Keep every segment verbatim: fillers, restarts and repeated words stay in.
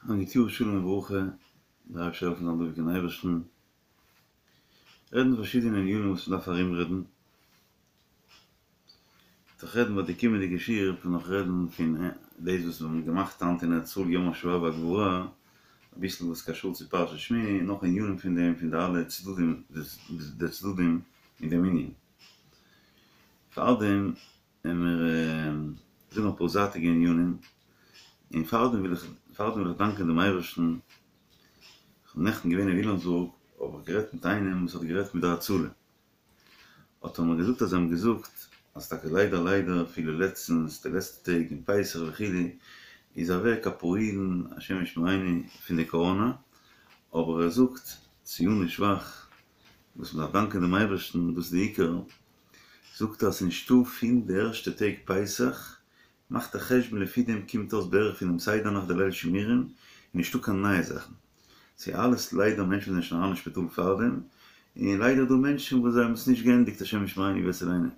א גוט יאר שלום וברכה, דער אייבערשטער זאל העלפן זיין דבוק אין אייבערשטן, רעדן פארשידענע ענינים וואס מ'דארף ארומרעדן, וועט איך רעדן ביי די קומענדיגע שיעור וועט מען נאך רעדן פון דאס וואס מיר האבן געמאכט היינט אין ארץ ישראל יום השואה והגבורה, אביסל וואס קשור צו פרשת שמיני, און נאך ענינים פון דעם פון די אלע צדדים די צדדים אין דעם ענין. פארדעם וועמיר זאגן אפאר זייטיגע ענינים, און פארדעם וויל איך פארדעם וויל איך דאנקען דעם אייבערשטן, כ'בין נעכטן געווען אין ווילאמסבורג האב איך גערעדט מיט איינעם וואס האט גערעדט מיט די הצלה, האט ער מיר געזאגט אז זיי האבן געזאגט אז טאקע ליידער ליידער אפילו לעצטנס די לעצטע טעג אין פסח וכו' איז אוועק אפאר אידן השם ישמרינו פון די קאראנא, אבער ער זאגט ציוני שבח וואס מ'דארף דאנקען דעם אייבערשטן דאס איז די עיקר, זאגט ער אז ס'נישטא פון די ערשטע טעג פסח, מאכט א חשבון לפי דעם קומט אויס בערך פונעם סדר נאכט די ליל שימורים, איז נישטא קיין נייע זאכן, ס'איז אלעס ליידער מענטשן זענען שוין אריין אין שפיטאל פארדעם, און ליידער דא מענטשן וואס זיי האבן עס נישט געענדיגט השם ישמרינו ויצילנו,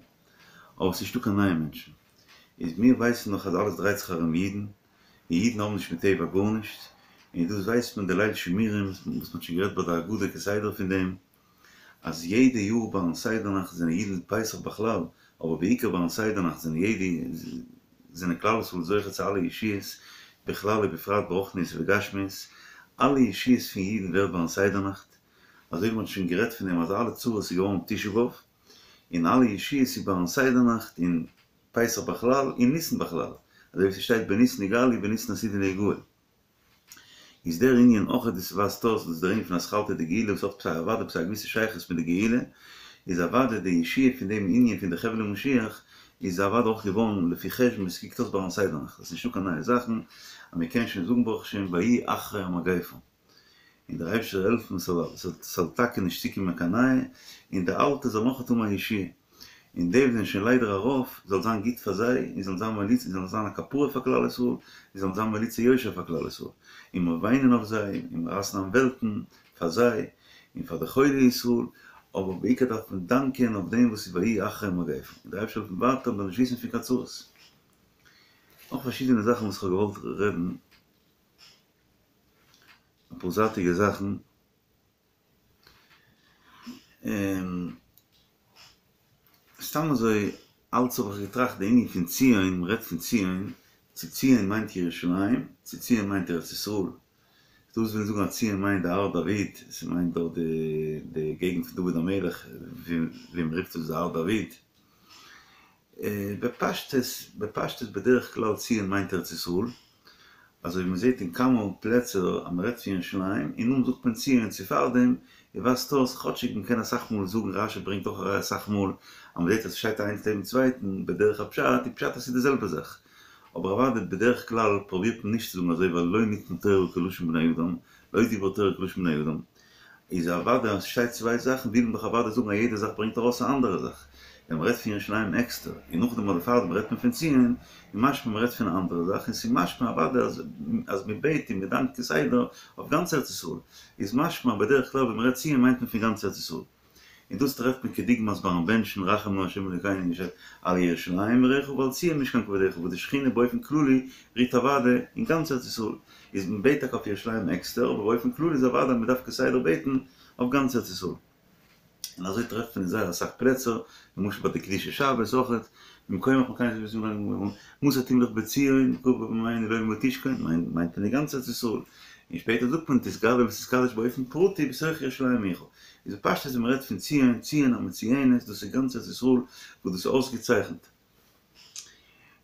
אבער ס'נישטא קיין נייע מענטשן, איז מיר ווייסן נאך אז אלעס דרייט זיך ארום אידן, און אידן האבן נישט מיט טבע גארנישט, און דאס ווייסט מען די ליל שימורים וואס מ'האט שוין גערעדט ביי די הגדה כסדר פון דעם, אז יעדע יאר ביים סדר נאכט זענען אידן פסח בכלל, אבער בעיקר ביים סדר נאכט זענען יעדע זענען כלל ישראל זוכה צו אלע ישועות בכלל ובפרט ברוחניות ובגשמיות, אלע ישועות פון אידן ווערט ביים סדר נאכט, אזוי ווי מען האט שוין גערעדט פון דעם אז אלע צרות איז געווארן תשעה באב, און אלע ישועות איז ביים סדר נאכט און פסח בכלל און ניסן בכלל, אזוי ווי ס'שטייט בניסן נגאלו ובניסן עתידין להיגאל. איז דער ענין אויך דאס ווייזט אויס דאס דער ענין פון אתחלתא דגאולה וואס האט עפעס א אוודאי עפעס א געוויסע שייכות מיט די גאולה, איז אוודאי די ישועה פון דעם ענין פון די חבלי משיח איז אוודאי אויך געווארן לפי חשבון ווי ס'קוקט אויס ביים סדר נאכט, עס איז נישטא קיין נייע זאכן אז מ'קען שוין זאגן ברוך השם ויהי אחרי המגיפה. און דער אייבערשטער זאל העלפן ס'זאל טאקע נישט צוקומען קיין נייע, און די אלטע זאל נאך האבן א ישועה, און די וואס זענען שוין ליידער ארויף, זאל זיין גוט פאר זיי, און זאלן זיין מליץ, און זאלן זיין א כפרה פאר כלל ישראל, און זאלן זיין מליצי יושר פאר כלל ישראל, און מיר וויינען אויף זיי, און מיר רייסן איין וועלטן פאר זיי, און פאר די חולי ישראל, אבער בעיקר דארף מען דאנקען אויף דעם וואס איז ויהי אחרי המגיפה, און דער אייבערשטער זאל העלפן ווייטער מ'זאל נישט וויסן פון קיין צרות. נאך פארשידענע זאכן וואס כ'האב געוואלט רעדן. אפאר זייטיגע זאכן, און סתם אזוי אלץ האב איך געטראכט די ענין פון ציון, מען רעדט פון ציון, צו ציון מיינט ירושלים, צו ציון מיינט ארץ ישראל, ס'דא וואס ווילן זאגן אז ציון מיינט די הר דוד, ס'מיינט דארט די די געגנט פון דוד המלך ווי מען רופט עס די הר דוד, בפשטות, בפשטות בדרך כלל ציון מיינט ארץ ישראל, אזוי ווי מען זעט אין כמה פלעצער אז מען רעדט פון ירושלים און נאכדעם זאגט מען ציון צו פארדעם און ווייזט אויס כאטשיג מען קען אסאך מאל זאגן רש"י ברענגט אויך א ראיה אסאך מאל אז מען זעט אז עס שטייט איינס נעבן צווייטן בדרך הפשט איז פשט אז ס'איז די זעלבע זאך אבער אוודאי בדרך כלל פרובירט מען נישט צו זאגן אזוי ווייל לא ניתנה תורה כלשון בני אדם לא דיברה תורה כלשון בני אדם איז אוודאי אז ס'שטייט צוויי זאכן וויל מען דאך אוודאי זאגן אז יעדע זאך ברענגט ארויס א אנדערע זאך. ווען מ'רעדט פון ירושלים עקסטער, און נאכדעם אדער פארדעם רעדט מען פון ציון, איז משמע מ'רעדט פון א אנדערע זאך, און ס'איז משמע אוודאי אז אז מ'בעט און מ'דאנקט כסדר אויף גאנץ ארץ ישראל, איז משמע בדרך כלל ווען מ'רעדט ציון מיינט מען פון גאנץ ארץ ישראל. און דאס טרעפט מען כדוגמת ביים בענטשן רחם נא ה' אלוקינו שטייט על ירושלים עירך ועל ציון משכן כבודך וואס די שכינה באופן כללי רוהט אוודאי אין גאנץ ארץ ישראל איז מען בעט טאקע אויף ירושלים עקסטער אבער באופן כללי איז אוודאי מען דארף כסדר בעטן אויף גאנץ ארץ ישראל און אזוי טרעפט מען אין זייער אסאך פלעצער למשל ביי די קדושת שבת אויכעט ממקומך מקל מתי תמלוך בציון קרא בימינו לעולמו תשכון מיינט מען די גאנצע ארץ ישראל און שפעטער זאגט מען תתגדל ותתקדש באופן פרטי בתוך ירושלים עירך איז בפשטות ווען מ'רעדט פון ציון, ציון המצויינת, דאס איז גאנץ ארץ ישראל וואס דאס איז אויסגעצייכנט.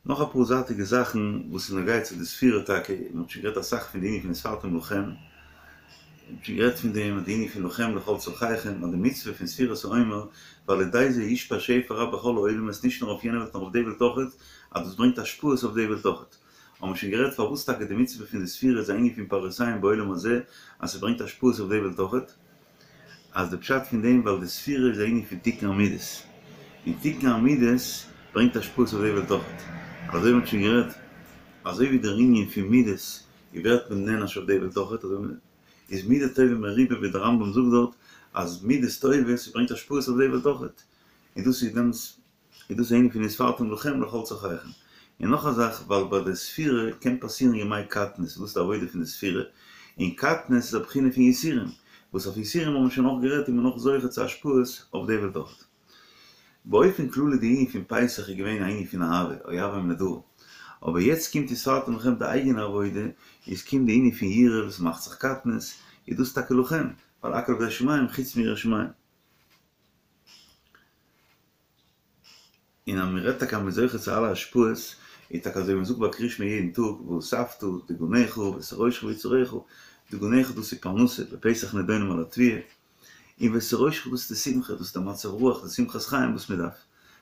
נאך אפאר זייטיגע זאכן וואס איז נוגע צו די ספירה טאקע, מען האט שוין גערעדט אסאך פון די ענין פון וספרתם לכם, מען האט שוין גערעדט פון דעם די ענין פון לכם לכל צרכיכם, אז די מצוה פון ספירת העומר, ועל ידי זה יושפע שפע רב בכל העולמות נישט נאר אויף יענע וועלט נאר אויף די וועלט אויכעט, אז דאס ברענגט השפעות אויף די וועלט אויכעט. האבן מיר שוין גערעדט פארוואס טאקע די מצוה פון די ספירה איז א ענין פון פירותיהם בעולם הזה, אז ס'ברענגט השפעות אויף די וועלט אויכעט. אז די פשט פון דעם ווייל די ספירה איז א ענין פון תיקון המידות, און תיקון המידות ברענגט השפעות אויף די וועלט אויכעט, אזוי ווי מ'האט שוין גערעדט, אזוי ווי דער ענין פון מידות איז ווערט מען נענש אויף די וועלט אויכעט, אזוי איז מידה טובה מרובה ווי דער רמב"ם זאגט דארט אז מידות טובות ברענגט השפעות אויף די וועלט אויכעט, און דאס איז דעמאלטס איז דאס א ענין פון וספרתם לכם לכל צרכיכם, און נאך א זאך ווייל ביי די ספירה קען פאסירן ימי קטנות, דאס איז די עבודה פון די ספירה, און קטנות איז א בחינה פון יסורים, וואס אויף יסורים האבן מיר שוין אויך גערעדט איז מען נאך זוכה צו השפעות אויף די וועלט אויך. באופן כללי די ענין פון פסח איז געווען א ענין פון אהבה, אוהבם לדור, אבער יעצט קומט וספרתם לכם די אייגענע עבודה, איז קומט די ענין פון יראה וואס מאכט זיך קטנות, איז דאס טאקע לכם, ווייל הכל בידי שמים חוץ מיראת שמים. און אז מען רעדט טאקע אז מען איז זוכה צו אלע השפעות, איז טאקע אזוי ווי מען זאגט ביי קריאת שמע יעדן טאג, ואספת דגנך ותירושך ויצהרך, דגנך דאס איז פרנסה, בפסח נידונים על התבואה, און ותירושך דאס איז די שמחה, דאס איז די מצב רוח, די שמחת חיים וואס מען דארף,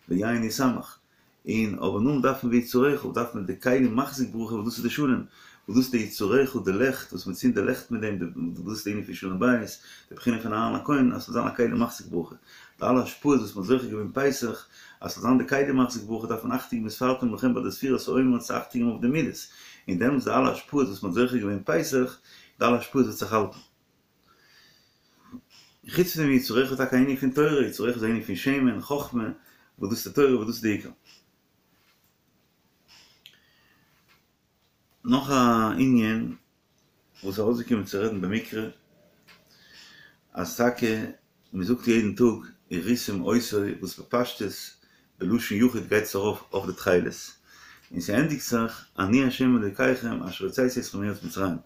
ויין ישמח, און אבער נאכדעם דארף מען ויצהרך, דארף מען די כלי מחזיק ברכה וואס דאס איז די שלום, וואס דאס איז די יצהרך, די לעכט, וואס מען צינדט די לעכט מיט דעם, דאס איז די ענין פון שלום בית, די בחינה פון אהרן הכהן, אז ס'זאל זיין א כלי מחזיק ברכה. די אלע השפעות וואס מ'האט זוכה געווען פסח, אז ס'זאל זיין די כלי מחזיק ברכה דארף מען אכטונג געבן וספרתם לכם ביי די ספירת העומר צו אכטונג געבן אויף די מידות, און דעמאלטס די אלע השפעות וואס מ'האט זוכה געווען פסח, די אלע השפעות וועט זיך האלטן. חוץ פון דעם יצהרך איז טאקע א ענין פון תורה, יצהרך איז א ענין פון שמן, חכמה, וואס דאס איז די תורה וואס דאס איז די עיקר. נאך א ענין וואס איז ארויסגעקומען צו רעדן במקרה, אז טאקע מען זאגט יעדן טאג וראיתם אותו וואס בפשטות בלשון יחיד גייט עס ארויף אויף די תכלת, און ס'ענדיגט זיך אני ה' אלוקיכם אשר הוצאתי אתכם מארץ מצרים.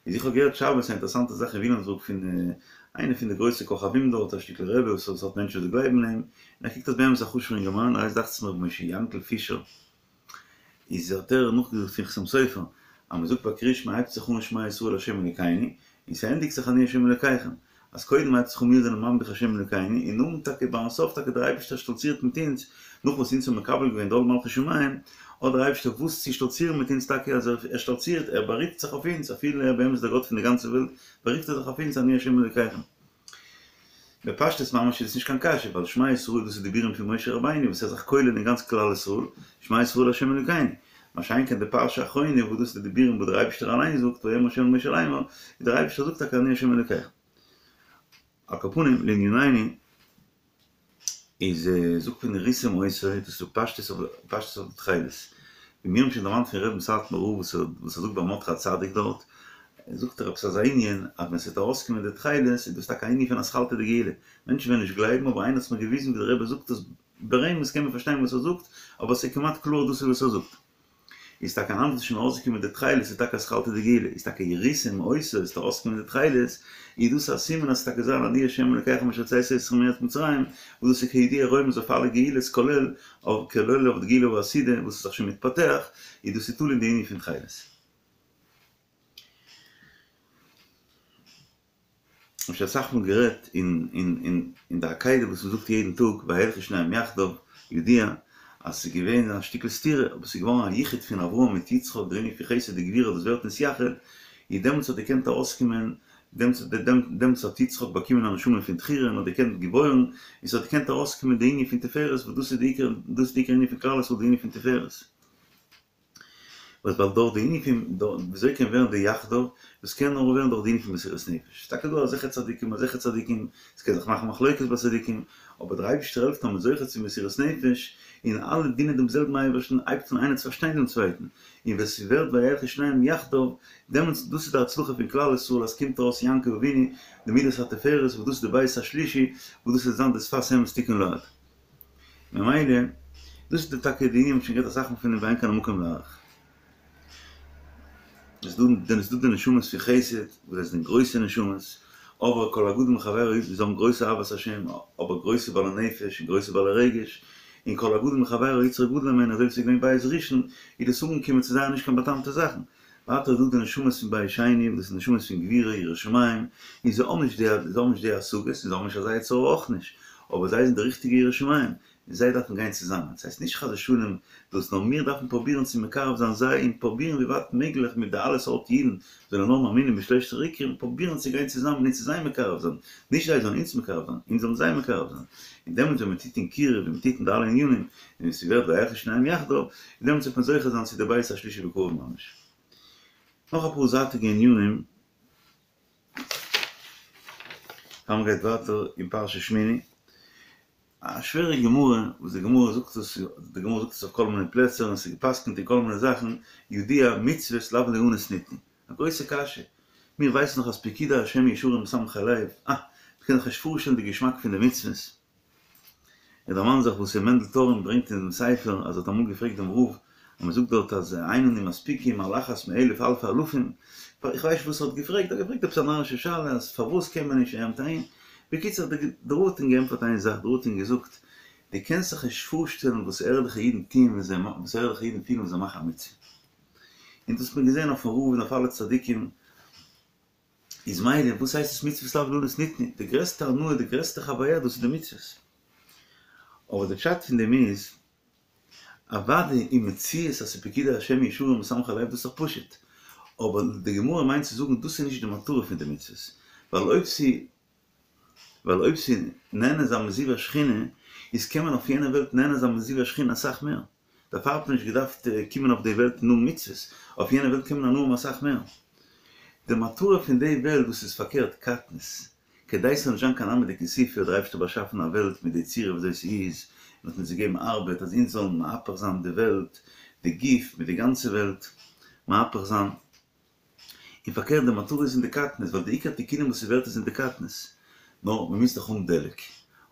איז איך האב געהערט שבת א אינטערעסאנטע זאך אין ווילאמסבורג פון איינע פון די גרויסע כוכבים דארט, א שטיקל רבי וואס האט מענטשן וואס גלייבן אין אים, און ער קוקט אויס באמת א חשוב'ער אינגערמאן, ער הייסט דאכט זיך מיר ר' משה יענקל פישער, איז האט ער נאכגעזאגט פון חתם סופר אז מ'זאגט ביי קריאת שמע הייבט זיך אן שמע ישראל ה' אלוקינו און ס'ענדיגט זיך אני ה' אלוקיכם אז קודם הייבט זיך אן מיר זענען ממליך ה' אלוקינו און נאכדעם טאקע ביים סוף טאקע דער אייבערשטער שטאלצירט מיט אונז נאך וואס אונז האבן מקבל געווען די עול מלכות שמים האט דער אייבערשטער וואס צו שטאלצירן מיט אונז טאקע אז ער שטאלצירט ער בארופט זיך אויף אונז אפילו ער באמת איז דער גאט פון די גאנצע וועלט בארופט ער זיך אויף אונז אני ה' אלוקיכם. בפשטות ממש איז עס נישט קיין קשיא, ווייל שמע ישראל דאס איז דיבורים פון משה רבינו וואס ער איז זיך כולל אין גאנץ כלל ישראל, שמע ישראל ה' אלוקינו, מה שאין כן די פרשה האחרונה וואס דאס איז די דיבורים וואס דער אייבערשטער אליין זאגט ויאמר ה' אל משה לאמר, ווי דער אייבערשטער זאגט טאקע אני ה' אלוקיך. על כל פנים, לענינינו, איז זאגט מען וראיתם אותו, דאס איז פשטות אויף פשטות אויף די תכלת. ווי מיר האבן שוין דערמאנט פון רבי'ן סאטמאר רב וואס ער וואס ער זאגט ביי מרדכי הצדיק דארט, זאגט ער עפעס אזא ענין אז ווען ס'וועט ארויסקומען די תכלת איז דאס טאקע א ענין פון אתחלתא דגאולה. מענטשן וועלן נישט גלייבן אבער איינער האט מיר געוויזן ווי דער רבי זאגט עס ברמז קען מען פארשטיין וואס ער זאגט אבער ס'איז כמעט קלאר דאס איז וואס ער זאגט. איז טאקע היינט וואס איז שוין ארויסגעקומען די תכלת איז טאקע אתחלתא דגאולה, איז טאקע וראיתם אותו איז ארויסגעקומען די תכלת, איז דאס א סימן אז ס'טאקע זיין אני ה' אלקיכם אשר הוצאתי אתכם מארץ מצרים, וואס דאס איז כידוע רומז אויף אלע גאולות כולל אויף כולל אויף די גאולה העתידה וואס איז זיך שוין מתפתח, איז דאס איז תלוי אין די ענין פון תכלת. כ'האב שוין אסאך מאל גערעדט אין אין אין אין די עקידה וואס מ'זאגט יעדן טאג וילכו שניהם יחדיו, ידוע אז ס'איז געווען א שטיקל סתירה אבער ס'איז געווארן א יחוד פון אברהם מיט יצחק דער ענין פון חסד וגבורה דאס ווערט נתייחד, און דעמאלטס האט געקענט ארויסקומען דעמאלטס דעמאלטס האט יצחק באקומען א נשמה פון תחירה און האט געקענט געבוירן און ס'האט געקענט ארויסקומען די ענין פון תפארת וואס דאס איז די עיקר דאס איז די עיקר ענין פון כלל ישראל די ענין פון תפארת. וואס ווייל דורך די ענין פון וויאזוי קען ווערן די יחדיו, דאס קען נאר ווערן דורך די ענין פון מסירות נפש, ס'איז טאקע דא אזעלכע צדיקים אזעלכע צדיקים, ס'קען זיך מאכן מחלוקת ביי צדיקים, אבער דער אייבערשטער העלפט אז מ'איז זוכה צו מסירות נפש, און אלע דינען דעם זעלבן אייבערשטן, הייבט אן איינער צו פארשטיין דעם צווייטן, און ווען ס'ווערט וילכו שניהם יחדיו, דעמאלטס דאס איז די הצלחה פון כלל ישראל אז ס'קומט ארויס יעקב אבינו, די מידת התפארת וואס דאס איז די בית השלישי, וואס דאס וועט זיין די שפת אמת תכון לעד. ממילא, דאס איז די טאקע די ענין, מ'האט שוין גערעדט אסאך מאל פון דעם ואין כאן המקום להאריך. עס איז דא די נשמות פון חסד, וואס זיי זענען גרויסע נשמות, אבער כל הגדול מחבירו, זיי האבן גרויסע אהבת השם, אבער גרויסע בעלי נפש און גרויסע בעלי רגש, און כל הגדול מחבירו יצרו גדול הימנו, אזוי ווי ס'איז געווען בית ראשון, איז דאס אנגעקומען צו זייער נישט קיין בא'טעמ'טע זאכן. ווייטער איז דא די נשמות פון בית שני, וואס דאס איז נשמות פון גבורה, יראת שמים, און זיי האבן נישט די, זיי האבן נישט די השגות, און זיי האבן נישט אזא יצר הרע אויך נישט, אבער זיי זענען די ריכטיגע יראי שמים, און זיי דארפן גיין צוזאמען, ס'הייסט נישט חס ושלום דאס, נאר מיר דארפן פרובירן צו מקרב זיין זיי, און פרובירן ווי ווייט מעגליך מיט די אלע סארט אידן, זענען נאר מאמינים בשלושת העיקרים, פרובירן צו גיין צוזאמען און צו זיי מקרב זיין, נישט זיי זאלן אונז מקרב זיין, אונז זאלן זיי מקרב זיין, און דעמאלטס ווען מ'טוט אין קירוב און מ'טוט אין די אלע ענינים, און ס'ווערט וילכו שניהם יחדיו, און דעמאלטס וועט מען זוכה זיין צו די בית השלישי בקרוב ממש. נאך אפאר זייטיגע ענינים, פאר מ'גייט ווייטער אין פרשת שמיני, א שווערע גמרא, וואס די גמרא זאגט עס, די גמרא זאגט עס אויף כל מיני פלעצער און עס איז גע'פסק'נט אין כל מיני זאכן, ידוע מצוות לאו ליהנות ניתנו. א גרויסע קשיא. מיר ווייסן דאך אז פקודי השם ישרים משמחי לב, אה, מ'קען זיך נישט פארשטעלן די געשמאק פון די מצוות. איך דערמאן זיך וואס ר' מענדל טארן ברענגט אין דעם ספר אז ער האט אמאל געפרעגט דעם רב אז מען זאגט דארט אז אין אנו מספיקים על אחת מאלף אלפי אלפים, איך ווייס נישט וואס ער האט געפרעגט, ער האט געפרעגט עפעס א נארישע שאלה אז פארוואס קען מען נישט עמ ט, בקיצור דער רב האט אים געענטפערט איין זאך, דער רב האט אים געזאגט, דו קענסט זיך נישט פארשטעלן וואס ערליכע אידן טוען ווען זיי וואס ערליכע אידן פילן ווען זיי מאכן א מצוה. און דאס האט מען געזען אויפן רב און אויף אלע צדיקים. איז מילא וואס הייסט עס מצוות לאו ליהנות ניתנו? די גרעסטע הנאה, די גרעסטע חוויה דאס איז די מצוות. אבער די פשט פון דעם איז, אוודאי אין מציאות אז ס'פקודי השם ישרים משמחי לב דאס איז דאך פשוט, אבער די גמרא מיינט צו זאגן דאס איז נישט די מטרה פון די מצוות, ווייל אויב ס' ווייל אויב ס'איז נהנה זיין מזיו השכינה, איז קען מען אויף יענע וועלט נהנה זיין מזיו השכינה אסאך מער. דערפאר האט מען נישט געדארפט קומען אויף די וועלט און האבן מצוות, אויף יענע וועלט קען מען הנאה האבן אסאך מער. די מטרה פון די וועלט דאס איז פארקערט קטנות, כדי ס'זאל נישט זיין קיין עמא דכיסופא האט דער אייבערשטער באשאפן א וועלט מיט די צורה וויאזוי ס'איז, און האט אונז געגעבן ארבעט אז אונז זאלן מהפך זיין די וועלט, די גוף מיט די גאנצע וועלט מהפך זיין. און פארקערט די מטרה איז אין די קטנות, ווייל די עיקר תיקונים וואס ס'ווערט איז אין די קטנות. נאר מ'מוז דאך האבן דלק.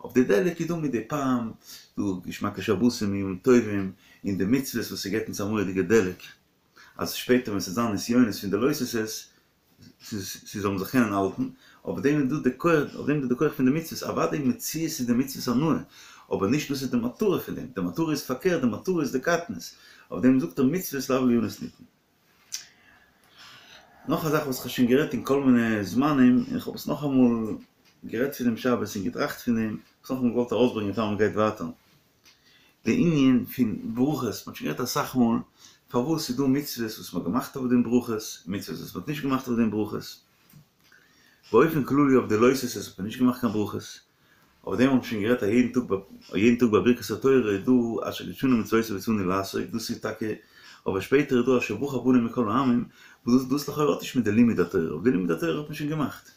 אויף די דלק איז דא מדי פעם דא געשמאקע שבתים און ימים טובים, און די מצוות וואס ס'געבט אונז א מורא'דיגע דלק, אז שפעטער ווען ס'וועט זיין נסיונות פון די לא תעשה'ס, ס'זאל מען זיך קענען האלטן, אויף דעם איז דא די כח, אויף דעם איז דא די כח פון די מצוות, אוודאי מציאות איז די מצוות הנאה, אבער נישט דאס איז די מטרה פון דעם, די מטרה איז פארקערט, די מטרה איז די קטנות, אויף דעם זאגט ער מצוות לאו ליהנות ניתנו. נאך א זאך וואס כ'האב שוין גערעדט אין כל מיני זמנים, און כ'האב עס נאכאמאל גערעדט פון דעם שבת און געטראכט פון דעם, כ'האב עס נאכאמאל געוואלט ארויסברענגען פאר מ'גייט ווייטער. די ענין פון ברכות, מ'האט שוין גערעדט אסאך מאל פארוואס ס'איז דא מצוות וואס מ'האט געמאכט אויף דעם ברכות, מצוות וואס מ'האט נישט געמאכט אויף דעם ברכות. באופן כללי אויף די לא תעשה'ס האט מען נישט געמאכט קיין ברכות, אויף דעם האט מען שוין גערעדט א יעדן טאג ביי יעדן טאג ביי ברכת התורה איז דא אשר קדשנו במצוותיו וצונו לעשות, דאס איז טאקע, אבער שפעטער איז דא אשר בחר בנו מכל העמים, וואס דאס דאס לכאורה האט נישט מיט די לימוד התורה, אויף די לימוד התורה האט מען שוין געמאכט,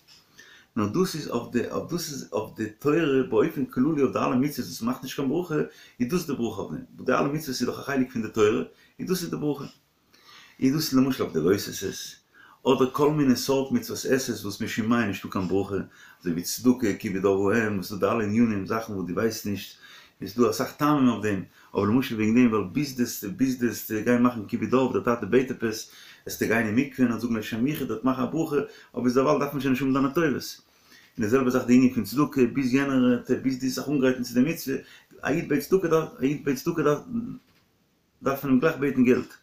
נאר דאס איז אויף די אויף דאס איז אויף די תורה באופן כללי אויף די אלע מצוות וואס מ'מאכט נישט קיין ברכה, איז דאס די ברכה אויף דעם, וואס די אלע מצוות איז דאך א חלק פון די תורה, איז דאס איז די ברכה. איז דאס למשל אויף די לא תעשה'ס, אדער כל מיני סארט מצוות עשה'ס וואס משום מה איז נישטא קיין ברכה, אזוי ווי צדקה, כיבוד אב ואם, וואס איז דא די אלע ענינים, זאכן וואס דו ווייסט נישט, איז דא אסאך טעמים אויף דעם, אבער למשל וועגן דעם ווייל ביז דו'סט ביז דו'סט גיין מאכן כיבוד אב, דער טאטע בעט עפעס, עסטו גיין אין מקווה און זאגן לשם יחוד דארט מאכן א ברכה, אבער ביז דערווייל דארף מען שוין נישט האבן דיינע טובות. און די זעלבע זאך די ענין פון צדקה, ביז יענער ביז דו'סט זיך אנגרייטן צו די מצוה, א איד בעט צדקה דארף, א איד בעט צדקה דארף. דארף מען אים גלייך בעטן געלט.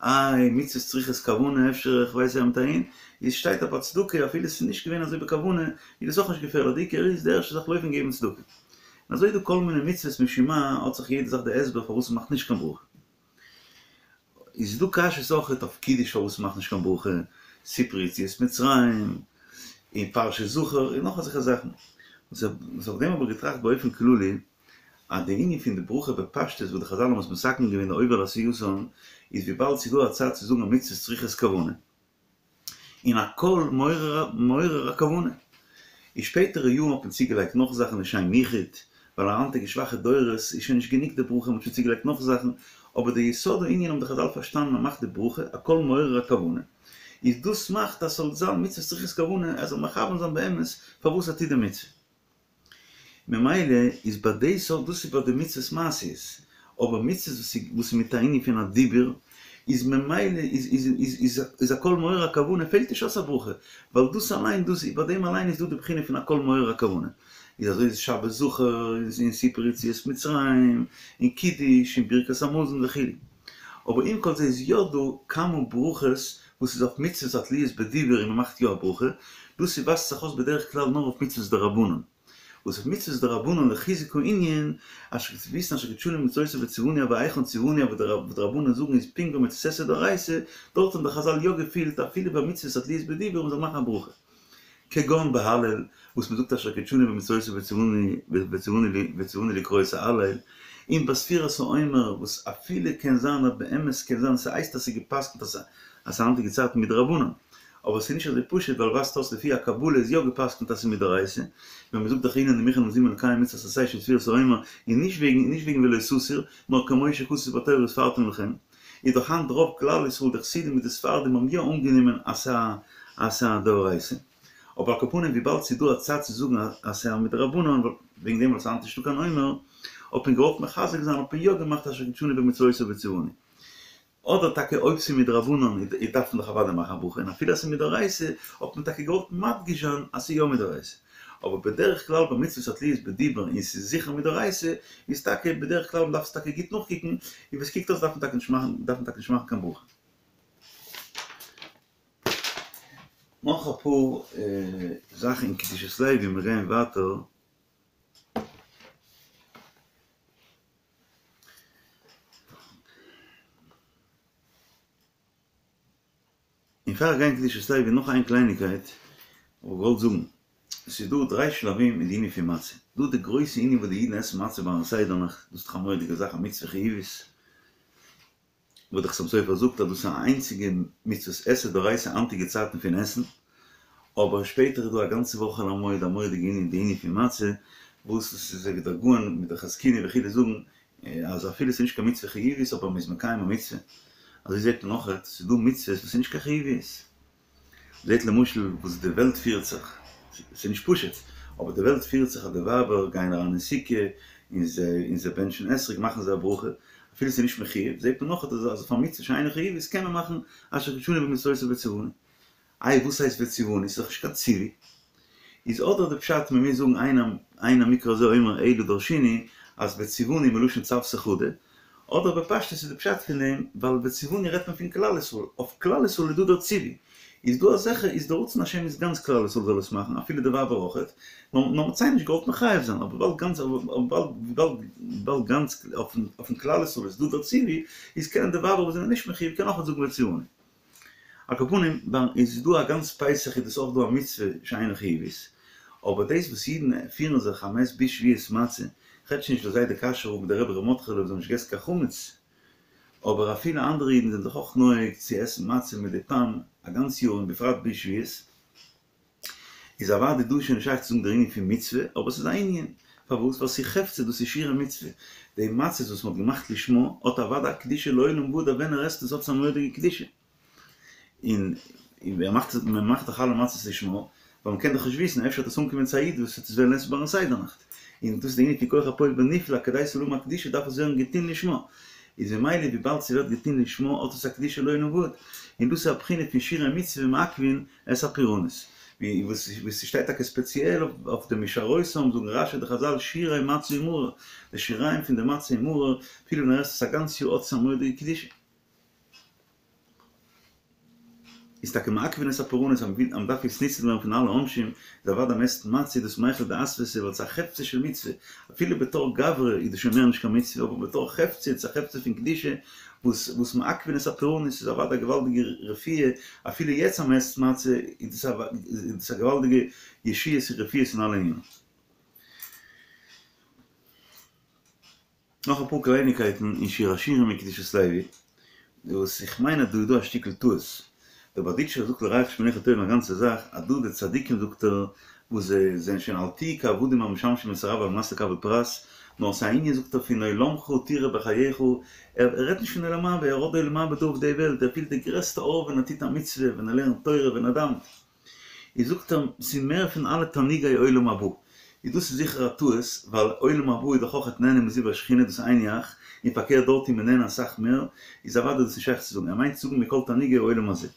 איי, מצוות צריכות כוונה, אפשר איך ווייס יא מיט אהין, איז שטייט אויף א צדקה אפילו עס איז נישט געווען אזוי בכוונה, איז דאס אויך נישט געפערליך, די עיקר איז די ערשטע זאך לויפן געבן צדקה. און אזוי איז דא כל מיני מצוות משום מה האט זיך יעדע זאך די הסבר פארוואס מ'מאכט נישט קיין ברכה. איז דא קשיות אויכעט אויף קידוש פארוואס מ'מאכט נישט קיין ברכה, סיפור יציאת מצרים, און פרשת זכור, און נאך אזעלכע זאכן. וואס אויף דעם האב איך געטראכט באופן כללי, אז די ענין פון די ברכה בפשטות וואס די חזל האבן עס מתקן געווען די עובר לעשייתן איז וויבאלד ס'איז דא א צד צו זאגן אז מצוות צריכות כוונה און הקול מעורר הכוונה. אין שפעטערע יארן האט מען צוגעלייגט נאך זאכן לשם יחוד, ווייל היינטיגע שוואכע דורות איז שוין נישט גענוג די ברכה מ'האט שוין צוגעלייגט נאך זאכן, אבער די יסוד הענין האבן די חזל פארשטאנען אז מ'מאכט די ברכה, הקול מעורר הכוונה, איז דאס מאכט אז ס'זאל זיין מצוות צריכות כוונה, ער זאל מכוון זיין באמת פארוואס ער טוט די מצוה. ממילא איז ביי די סארט, דאס איז ביי די מצוות מעשיות, אבער מצוות וואס איז וואס איז מיט א ענין פון א דיבור, איז ממילא איז איז איז איז איז הקול מעורר הכוונה פעלט נישט אויס א ברכה, ווייל דאס אליין דאס ביי דעם אליין איז דא די בחינה פון הקול מעורר הכוונה. איז אזוי איז שבת זכור, איז אין סיפור יציאת מצרים, אין קידוש, אין ברכת המזון וכו'. אבער עם כל זה איז יא דא כמה ברכות וואס איז אויף מצוות התלויות בדיבור און מ'מאכט יא א ברכה, דאס איז ווייזט זיך אויס בדרך כלל נאר אויף מצוות דרבנן, וואס אויף מצוות דרבנן לחיזוק הענין, אשר וויסן אשר קדשנו במצוותיו וציוונו אבער היכן ציוונו אבער די רבנן זאגן איז פונקט ווי מצות עשה דאורייתא, דארט האבן די חזל יא געפילט אפילו ביי מצוות התלויות בדיבור מ'זאל מאכן א ברכה. כגון בהלל, וואס מ'זאגט אשר קדשנו במצוותיו וציוונו לקרוא את ההלל, און ביי ספירת העומר, וואס אפילו קען זיין אז באמת קען זיין ס'הייסט אז ס'איז גע'פסק'נט אז ס'איז היינטיגע צייטן מדרבנן, אבער ס'איז נישט אזוי פשוט ווייל ווייזט אויס לפי הקבלה איז יא גע'פסק'נט אז ס'איז מדאורייתא, ווען מ'זאגט דאך הנני מוכן ומזומן לקיים מצוות עשה של ספירת העומר, און נישט וועגן נישט וועגן ולא תסור, נאר כמו שכתוב בתורה וספרתם לכם, איז דאך היינט רוב כלל ישראל די חסידים מיט די ספרדים האבן יא אנגענומען אז ס'איז אז ס'איז א דאורייתא. אבער על כל פנים וויבאלד ס'איז דא א צד צו זאגן אז ס'איז א מדרבנן וועגן דעם ווייל ס'איז היינט נישטא קיין עומר, האט מען געוואלט מחזק זיין האט מען יא געמאכט אשר קדשנו במצוותיו וציוונו. אדער טאקע אויב ס'איז מדרבנן איז דארף מען דאך אוודאי מאכן א ברכה און אפילו אז ס'איז מדאורייתא האט מען טאקע געוואלט מדגיש זיין אז ס'איז יא מדאורייתא. אבער בדרך כלל ביי מצוות התלויות בדיבור און ס'איז זיכער מדאורייתא איז טאקע בדרך כלל מ'דארף עס טאקע גוט נאכקוקן און ווי ס'קוקט אויס דארף מען טאקע נישט מאכן דארף מען טאקע נישט מאכן קיין ברכה. נאך אפאר זאכן אין קדושת לוי ווי מיר גייען ווייטער. און פאר איך גיי אין קדושת לוי נאך איין קלייניקייט האב איך געוואלט זאגן, עס איז דא דריי שלבים אין די ענין פון מצה, דא די גרויסע ענין וואס די אידן עסן מצה ביים סדר נאכט, דאס איז דאך א מורא'דיגע זאך א מצוה חיובית, וואס דער חתם סופר זאגט אז דאס איז א איינציגע מצוות עשה דאורייתא היינטיגע צייטן פון עסן, אבער שפעטער איז דא א גאנצע וואך חול המועד א מורא'דיגע ענין די ענין פון מצה, וואס עס איז אזוי ווי דער גאון מיט דער חזקוני וכו' זאגן אז אפילו עס איז נישט קיין מצוה חיובית אבער מען איז מקיים א מצוה, אזוי זעט מען אויכעט ס'איז דא מצוות וואס איז נישט קיין חיובית. זעט למשל וואס די וועלט פירט זיך, ס'איז נישט פשוט, אבער די וועלט פירט זיך אז די ווייבער גייען אריין אין סוכה און זיי און זיי בענטשן אתרוג מאכן זיי א ברכה, אפילו ס'איז נישט מחויב, זעט מען נאך אז אויף א מצוה שאינה חיובית קען מען מאכן אשר קדשנו במצוותיו וציוונו. איי וואס הייסט וציוונו? ס'איז דאך נישט קיין ציווי. איז אדער די פשט מ'מוז זאגן אין אין המקרא הזה אומר אלא דרשיני אז וציוונו מלשון צוותא חדא, אדער בפשטות איז די פשט פון דעם ווייל וציוונו רעדט מען פון כלל ישראל, אויף כלל ישראל איז דא דער ציווי, איז דא אזעלכע איז דער רצון השם איז גאנץ כלל ישראל זאל עס מאכן אפילו די ווייבער אויכעט, נאר נאר מ'האט זיי נישט געוואלט מחייב זיין, אבער וויבאלד גאנץ וויבאלד וויבאלד גאנץ אויפן כלל ישראל איז דא דער ציווי, איז קענען די ווייבער וואס זענען נישט מחויב קענען אויכעט זאגן וציוונו. על כל פנים, דאן איז דא א גאנץ פסח איז דאס אויך דא א מצוה שאינה חיובית, אבער דאס וואס אידן פירן זיך אז מ'עסט ביז שבועות מצה, כ'רעד שוין נישט דער זיידע קאשוי רב מיט דער רבי ר' מרדכי'לע וואס האבן נישט געגעסן קיין חמץ, אבער אפילו אנדערע אידן זענען זיך אויך נוהג צו עסן מצה מדי פעם א גאנץ יאר און בפרט ביז שבועות. איז אוודאי דא שוין נישט שייך צו זאגן דער ענין פון מצוה, אבער ס'איז א ענין. פארוואס? ווייל ס'איז חפצא, דאס איז שירי מצוה. די מצות וואס מ'האט געמאכט לשמה, האט אוודאי א קדושה לעולם ועד, ווען ער עסט עס האט עס א מורא'דיגע קדושה. און מען מאכט מען מאכט דאך אלע מצות לשמה, ווייל מ'קען דאך נישט וויסן, אפשר וועט עס אנקומען צו א איד וואס וועט עס וועלן עסן ביים סדר נאכט. און דאס איז די ענין פון כח הפועל בנפעל, כדי ס'זאל האבן א קדושה דארף עס ווערן געטון לשמה. איז ממילא וויבאלד ס'ווערט געטון לשמה האט עס א קדושה לעולם ועד. און דאס איז א בחינה פון שירי מצוה מעכבין את הפורענות, ווי וואס ס'שטייט טאקע ספעציעל אויף די משארותם זאגן רש"י די חז"ל שירי מצה ומרור, די שיריים פון די מצה און מרור, אפילו ווען ער עסט עס א גאנץ יאר האט עס א מורא'דיגע קדושה. איז טאקע מעכבין את הפורענות אז מ'דארף יעצט ניצול ווערן פון אלע עונשים, איז אוודאי מ'עסט מצה איז דאס מיכלא דאסוותא ווייל ס'איז א חפצא של מצוה, אפילו בתור גברא איז דאס שוין מער נישט קיין מצוה אבער בתור חפצא איז עס א חפצא פון קדושה וואס וואס מעכבין את הפורענות איז אוודאי א געוואלדיגע רפואה, אפילו יעצט אז מ'עסט מצה איז דאס א געוואלדיגע ישועות און רפואות אין אלע ענינים. נאך אפאר קלייניקייטן אין שיר השירים אין קדושת לוי, וואס איך מיין אז דא איז דא א שטיקל טעות, דער בארדיטשעווער זאגט לרעך שמניך טובים א גאנצע זאך, אז דא די צדיקים זאגט ער וואס זיי זענען שוין אל תהיו כעבדים המשמשים את הרב על מנת לקבל פרס, נאר ס'איז א ענין זאגט ער פון עולמך תראה בחייך, ער רעדט נישט פון עולם הבא, ער האט די עולם הבא דא אויף די וועלט, ער פילט די גרעסטע אור ווען ער טוט א מצוה, ווען ער לערנט תורה, ווען ער דאווענט. איז זאגט ער ס'איז מער פון אלע תענוגי עולם הבא, איז דאס איז זיכער א טעות, ווייל עולם הבא איז דאך אויכעט נהנה מזיו השכינה דאס איז היינו הך, און פארקערט דארט איז מען נהנה אסאך מער, איז אוודאי דאס נישט שייך צו זאגן, ער מיינט צו זאגן מכל תענוגי עולם הזה.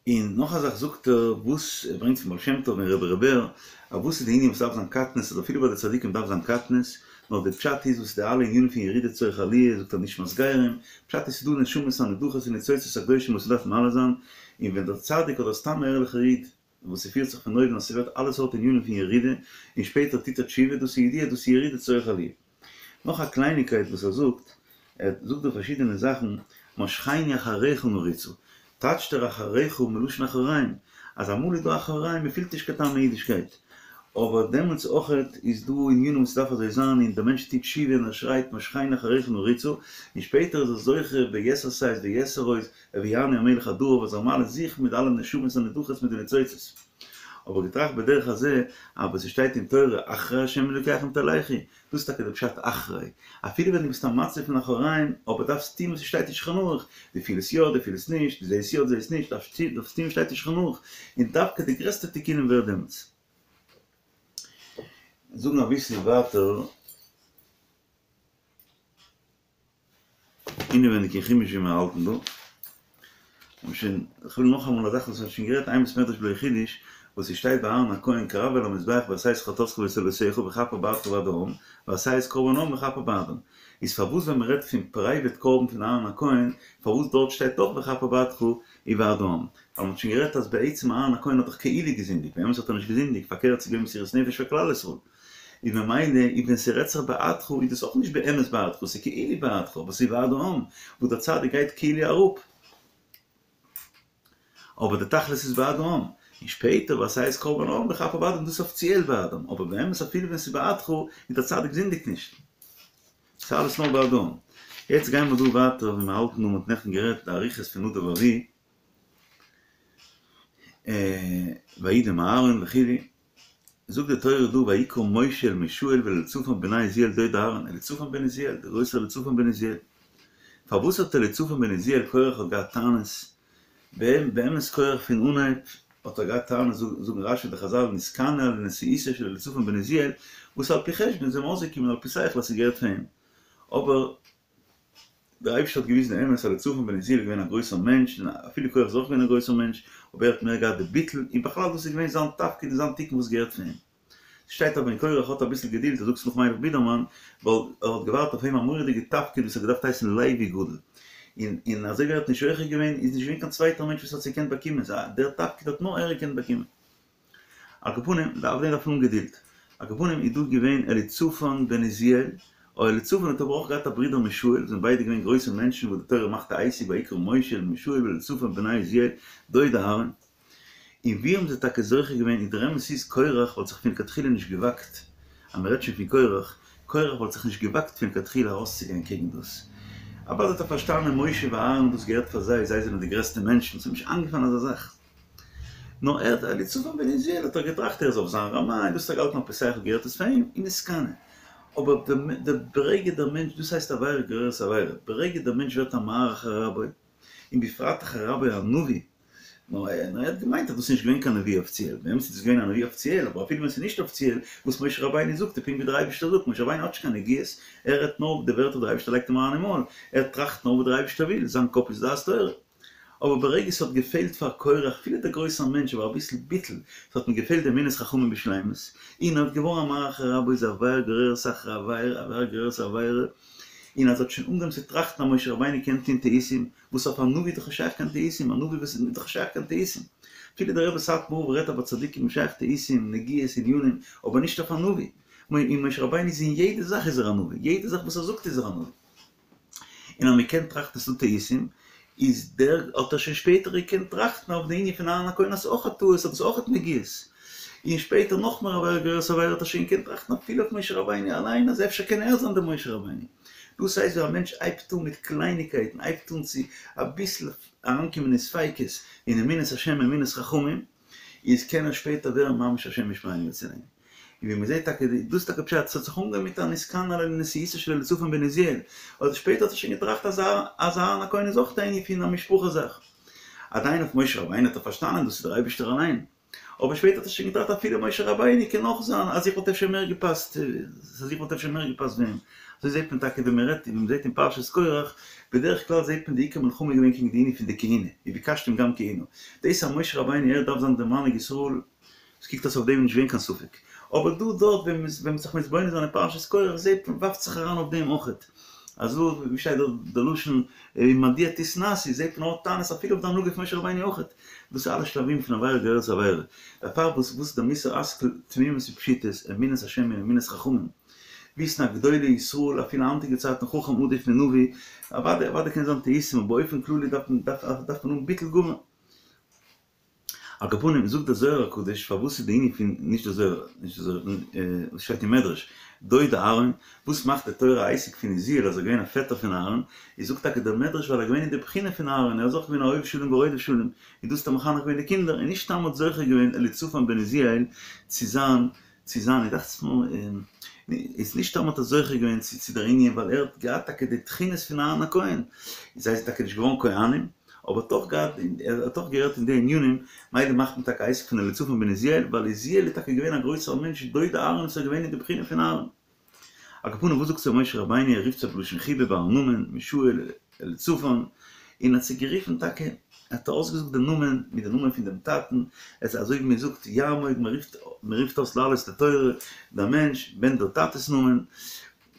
און נאך א זאך זאגט ער וואס ער ברענגט פון בעל שם טוב און רבי ר' בער, אז וואס איז די ענין וואס דארף זיין קטנות אז אפילו ביי די צדיקים דארף זיין קטנות, נאר די פשט איז וואס די אלע ענינים פון ירידה צורך עליה זאגט ער נשמת גרים, פשט איז ס'דא נשמות הנדחות און ניצוצות הקדושים וואס מ'דארף מעלה זיין, און ווען דער צדיק אדער סתם א ערליכער איד וואס ס'פירט זיך פון אויבן אז ס'ווערט אלע סארט ענינים פון ירידה און שפעטער טוט ער תשובה דאס איז ידוע דאס איז ירידה צורך עליה. נאך א קלייניקייט וואס ער זאגט, ער זאגט דא פארשידענע זאכן, משכני אחריך נרוצה, טייטשט ער אחריך מלשון אחוריים, אז אמאל איז דא אחוריים, מען פילט נישט קיין טעם אין אידישקייט, אבער דעמאלטס אויכעט איז דא ענינים וואס ס'דארף אזוי זיין און דער מענטש טוט תשובה און ער שרייט משכני אחריך נרוצה און שפעטער איז ער זוכה ביתר שאת ויתר עוז הביאני המלך עד ערב אז ער מעלה זיך מיט אלע נשמות הנדחות מיט די ניצוצות. האב איך געטראכט בדרך הזה אז וואס ס'שטייט אין תורה אחרי ה' אלוקיכם תלכו, דאס איז טאקע די פשט אחרי, אפילו ווען דו ביסט א מצב פון אחוריים, אבער דארפסט טון וואס ס'שטייט אין שולחן ערוך, דו פילסט יא, דו פילסט נישט, דו זעסט יא, דו זעסט נישט, דארפסט טון וואס שטייט אין שולחן ערוך, און דווקא די גרעסטע תיקונים ווערט דעמאלטס. זאגן אביסל ווייטער אינעווייניג אין חומש ווי מיר האלטן דא, און שוין, כ'וויל נאכאמאל א זאך וואס מ'האט שוין גערעדט אין בית מדרש בלא חידוש, וואס ס'שטייט ביי אהרן הכהן קרב אל המזבח ועשה את חטאתך ואת עולתך וכפר בעדך ובעד העם, ועשה את קרבן העם וכפר בעדם. איז פארוואס ווען מ'רעדט פון פרייוועט קרבן פון אהרן הכהן, פארוואס דארט שטייט אויך וכפר בעדך ובעד העם? ווייל מ'האט שוין גערעדט אז בעצם אהרן הכהן האט דאך כאילו געזינדיגט, באמת האט ער נישט געזינדיגט, פארקערט ס'איז געווען מסירות נפש פאר כלל ישראל. איז ממילא איז ווען ס'רעדט זיך בעדך איז דאס אויך נישט באמת בעדך, ס'איז כאילו בעדך, אבער ס'איז בעד העם, וואס דער צדיק גייט כאילו אראפ. אבער די תכלית איז בעד העם. און שפעטער ועשה את קרבן העם וכפר בעדם דאס איז אפיציעל בעד העם, אבער באמת אפילו ווען ס'איז בעדך איז דער צדיק זינדיגט נישט. ס'איז אלעס נאר בעד העם. יעצט גייען מיר דא ווייטער ווי מיר האלטן דא, מ'האט נעכטן גערעדט די אריכות פון נדב ואביהוא, וידם אהרן וכו', זאגט די תורה דא ויקרא משה אל מישאל ואל אליצפן בני עוזיאל דודי אהרן, אליצפן בן עוזיאל, דער גרויסער אליצפן בן עוזיאל. פארוואס האט אליצפן בן עוזיאל קורח האט געהאט טענות? באמת קורח פון אנהייב האט ער געהאט טענות זאגן רשי די חזל נתקנא על נשיאותו של אליצפן בן עוזיאל, וואס על פי חשבון איז אים אויסגעקומען על פי שכל אז ס'געהערט פאר אים, אבער דער אייבערשטער האט געוויזן די אמת אז אליצפן בן עוזיאל איז געווען א גרויסער מענטש, און אפילו קורח איז אויך געווען א גרויסער מענטש, אבער ער האט מער געהאט די ביטול, און בכלל דאס איז געווען זיין תפקיד און זיין תיקון וואס געהערט פאר אים. ס'שטייט אז ווען קורח האט אביסל געדולד, ער זאגט עס נאך מיילעך בידערמאן, ווייל ער האט געווארט אויף אים א מורא'דיגע תפקיד וואס האט געדארפט הייסן לוי גדול, און און אזוי ווי ער האט נישט זוכה געווען, איז נישט געווען קיין צווייטער מענטש וואס האט עס געקענט באקומען, סא דער תפקיד האט נאר ער געקענט באקומען. על כל פנים, אויף דעם דארף מען האבן געדולד. על כל פנים איז דא געווען אליצפן בן עוזיאל, אוי אליצפן האט אבער אויך געהאט א ברודער מישאל, זענען ביידע געווען גרויסע מענטשן וואס די תורה מאכט א עסק ויקרא משה אל מישאל ואל אליצפן בני עוזיאל דודי אהרן. און ווי האבן זיי טאקע זוכה געווען און דער אמת איז קורח וואלט זיך פון לכתחילה נישט געוואגט, אז מען רעדט שוין פון קורח, קורח וואלט זיך נישט געוואגט פון לכתחילה ארויסצוגיין קעגן דאס. אוודאי האט ער פארשטאנען משה ואהרן דאס געהערט פאר זיי, זיי זענען די גרעסטע מענטשן, ס'איז אים נישט איינגעפאלן אזא זאך. נאר ער האט אליצפן בן עוזיאל האט ער געטראכט ער איז אויף זיין רמה און דאס האט ער געהאלטן על פי שכל געהערט עס פאר אים און נתקנא. אבער די ברגע דער מענטש דאס הייסט עבירה גוררת עבירה ברגע דער מענטש ווערט א מהרהר אחר רבו און בפרט אחר רבו הנביא נאר ער האט געמיינט אז דאס איז נישט געווען קיין נביא אפיציעל באמת איז דאס געווען א נביא אפיציעל אבער אפילו ווען עס איז נישט אפיציעל וואס משה רבינו זאגט איז פונקט ווי דער אייבערשטער זאגט משה רבינו האט נישט קיין נגיעות ער רעדט נאר די ווערטער דער אייבערשטער לייגט אים אריין אין מויל ער טראכט נאר וואס דער אייבערשטער וויל זיין קאפ איז דעת תורה. אבער ברגע ס'האט געפעלט פאר קורח, אפילו דער גרויסער מענטש, אבער אביסל ביטול, ס'האט אים געפעלט די אמונת חכמים בשלימות, און ער האט געווארן א מהרהר אחר רבו איז עבירה גוררת אחר עבירה, עבירה גוררת עבירה, און אז ער האט שוין אנגעהויבן צו טראכטן אז משה רבינו קען טון טעותים, וואס אויף א נביא איז דאך נישט שייך קיין טעותים, א נביא וואס איז דאך נישט שייך קיין טעותים. אפילו דער רבי סאטמאר רב רעדט אז ביי צדיקים איז שייך טעותים, נגיעות, ענינים, אבער נישט אויף א נביא. און משה רבינו איז אין יעדע זאך איז ער א נביא, יעדע זאך וואס ער זאגט איז ער א נביא. און אז מען קען טראכטן ס'דא טעותים, איז דער האט ער שוין שפעטער געקענט טראכטן אויף די ענין פון אהרן הכהן אז ס'איז אויך א טעות אז דאס איז אויך נגיעות. און שפעטער נאכמער עבירה גוררת עבירה האט ער שוין געקענט טראכטן אפילו אויף משה רבינו אליין אז אפשר קען ער זיין דער משה רבינו. דאס הייסט ווען א מענטש הייבט אן מיט קלייניקייטן, הייבט אן צו אביסל אריינקומען אין ספיקות אין אמונת השם אמונת חכמים, איז קען ער שפעטער ווערן ממש השם ישמרינו ויצילנו. און ווי מ'זעט טאקע, דאס איז טאקע פשט, ס'האט זיך אנגעהויבן מיט א נתקנא על נשיאותו של אליצפן בן עוזיאל, אבער שפעטער האט ער שוין געטראכט אז אז אהרן הכהן איז אויך א ענין פון א משפחה זאך. עדיין אויף משה רבינו האט ער פארשטאנען דאס איז דער אייבערשטער אליין. אבער שפעטער האט ער שוין געטראכט אפילו משה רבינו קען אויך זיין אז איך וואלט אפשר מער געפאסט, אז איך וואלט אפשר מער געפאסט ווי אים. אזוי זעט מען טאקע ווען מ'רעדט און ווען מ'זעט אין פרשת קורח, בדרך כלל זעט מען די עיקר מלחמה איז געווען קעגן די ענין פון די כהונה, וביקשתם גם כהונה. דאס אז משה רבינו ער דארף זיין דער מנהיג ישראל, עס קוקט אויס אויף דעם איז נישט געווען קיין ספק. אבער דא דארט ווען מ'איז ווען מ'איז זיך מתבונן זיין אין פרשת קורח זעט מען ווארפט זיך אריין אויף דעם אויכעט. אזוי ווי שטייט דארט די לשון ומדוע תתנשאו זעט מען האט טענות אפילו אויף די הנהגה פון משה רבינו אויכעט. דאס איז אלע שלבים פון עבירה גוררת עבירה. דערפאר וואס וואס איז דער מוסר השכל תמימות ופשיטות אמונת השם און אמונת חכמים. וויסן אז גדולי ישראל אפילו היינטיגע צייטן חכם עדיף מנביא, אוודאי אוודאי קען זיין טעותים אבער באופן כללי דארף מען דארף מען האבן ביטול גמור. על כל פנים, זאגט דער זוהר הקדוש, פארוואס איז די ענין פון, נישט דער זוהר, נישט דער זוהר, וואס שטייט אין מדרש, דוד אהרן, וואס מאכט די תורה א עסק פון עוזיאל אז ער איז געווען א פעטער פון אהרן, איז זאגט טאקע דער מדרש ווייל ער איז געווען אין די בחינה פון אהרן, ער איז אויך געווען א אוהב שלום ורודף שלום, און דאס האט ער מחנך געווען די קינדער, און נישט סתם האט זוכה געווען אליצפן בן עוזיאל צו זיין, צו זיין, איך דאכט זיך מיר, איז נישט סתם האט ער זוכה געווען צו צו דער ענין ווייל ער האט געהאט טאקע די תכונות פון אהרן הכהן, זיי זענען טאקע נישט געווארן כהנים, אבער האט אויך געהאט, ער האט אויך געהערט אין די ענינים, מילא מאכט מען טאקע א עסק פון אליצפן בן עוזיאל, ווייל עוזיאל איז טאקע געווען א גרויסער מענטש, דוד אהרן איז געווען אין די בחינה פון אהרן. על כל פנים וואס זאגט זיי משה רבינו, ער רופט זיי בלשון חיבה ביים נאמען, מישאל, אליצפן, און האט זיי גערופן טאקע, האט ער אויסגעזאגט די נאמען מיט די נאמען פון דעם טאטן, עס איז אזוי ווי מען זאגט יעמוד, מען רופט מען רופט אויס לעלות לתורה דער מענטש בן דער טאטע'ס נאמען,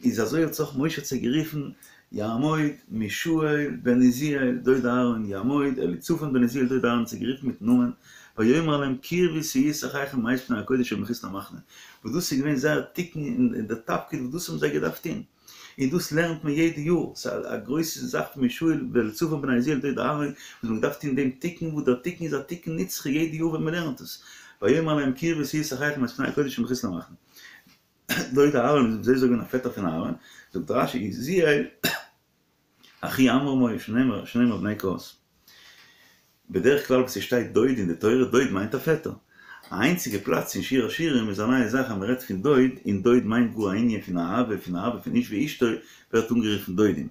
איז אזוי האט זיך משה האט זיי גערופן יעמוד מישאל בן עוזיאל דוד אהרן יעמוד אליצפן בן עוזיאל דוד אהרן האט זיי גערופן מיטן נאמען ויאמר אליהם קרבו שאו את אחיכם מאת פני הקודש אל מחוץ למחנה וואס דאס איז געווען זייער תיקון און דער תפקיד וואס דאס האבן זיי געדארפט טון און דאס לערנט מען יעדע יאר, ס'איז א גרויסע זאך פון מישאל ואליצפן בן עוזיאל דוד אהרן וואס מ'האט געדארפט טון דעם תיקון וואס דער תיקון איז א תיקון נצחי יעדע יאר ווען מ'לערנט עס ויאמר אליהם קרבו שאו את אחיכם מאת פני הקודש אל מחוץ למחנה. דוד אהרן איז אזוי געווען א פעטער פון אהרן, זאגט רש"י עוזיאל אחי עמרם היו שנאמר שנאמר בני קהת. בדרך כלל וואו ס'שטייט דוד אין די תורה, דוד מיינט א פעטער. א איינציגע פלאץ אין שיר השירים איז א נייע זאך אז מ'רעדט פון דוד, און דוד מיינט גאר א ענין פון אהבה, פון אהבה פון איש ואשתו ווערט אנגערופן דודים.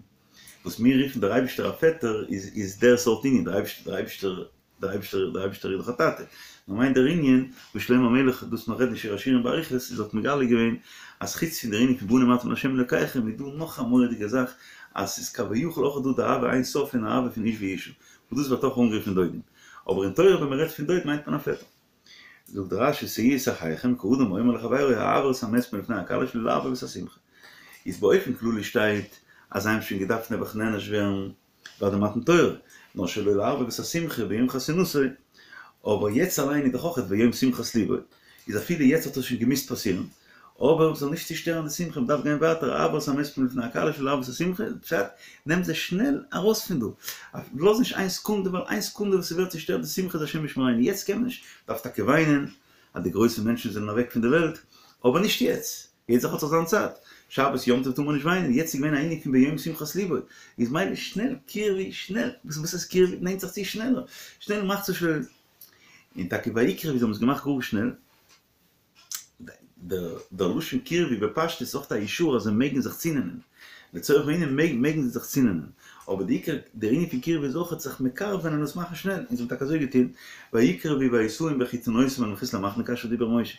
וואס מיר רופן דער אייבישטער א פעטער איז איז דער סארט ענין, דער אייבישטער דער אייבישטער דער אייבישטער דער אייבישטער איז דאך א טאטע. נאר מיינט דער ענין וואס שלמה המלך דאס נאך רעדן אין שיר השירים באריכות איז האט מגלה געווען אז חוץ פון דער ענין פון בנים אתם לה' אלקיכם איז דא נאך א מורא'דיגע זאך אז ס'איז כביכול אויך דא די אהבה אין סוף און אהבה פון איש ואשה וואס דאס ווערט אויך אנגערופן דודים. אבער אין תורה ווען מ'רעדט פון דוד מיינט מען א פעטער. זאגט רש"י שאו את אחיכם כאדם האומר לחבירו העבר את המת מלפני הכלה שלא לערבב את השמחה. איז באופן כללי שטייט אז זיי האבן שוין געדארפט נעבעך נענש ווערן ביי די מתן תורה, נאר שלא לערבב את השמחה ביום חתונתו, אבער יעצט אליין איז דאך אויך ביום שמחת לבו, איז אפילו יעצט האט עס שוין געמוזט פאסירן, אבער מ'זאל נישט צושטערן די שמחה, מ'דארף גיין ווייטער, העבר את המת מלפני הכלה שלא לערבב את השמחה, פשט, נעם זיי שנעל ארויס פון דא, לאז נישט איין סעקונדע, ווייל איין סעקונדע וואס ס'ווערט צושטערט די שמחה איז השם ישמרינו, יעצט קען מען נישט, מ'דארף טאקע וויינען אז די גרויסע מענטשן זענען אוועק פון די וועלט, אבער נישט יעצט. יעדע זאך האט זיך זיין צייט, שבת יום טוב טאר מען נישט וויינען, יעצט איז געווען א ענין פון ביום שמחת לבו, איז מילא שנעל קרבו שנעל, וואס הייסט קרבו, נעמט זיך צו שנעלער, שנעל מאכט זיך שנעל, און טאקע ויקרבו זיי האבן עס געמאכט גאר שנעל, דער לשון קרבו בפשטות איז אויך א אישור אז זיי מעגן זיך צונעמען, לצורך הענין מעגן זיי זיך צונעמען, אבער די עיקר דער ענין פון קירבה איז אויך זיך מקרב זיין און עס מאכן שנעל, און זיי האבן טאקע אזוי געטון, ויקרבו וישאום בכתנותם אל מחוץ למחנה כאשר דיבר משה,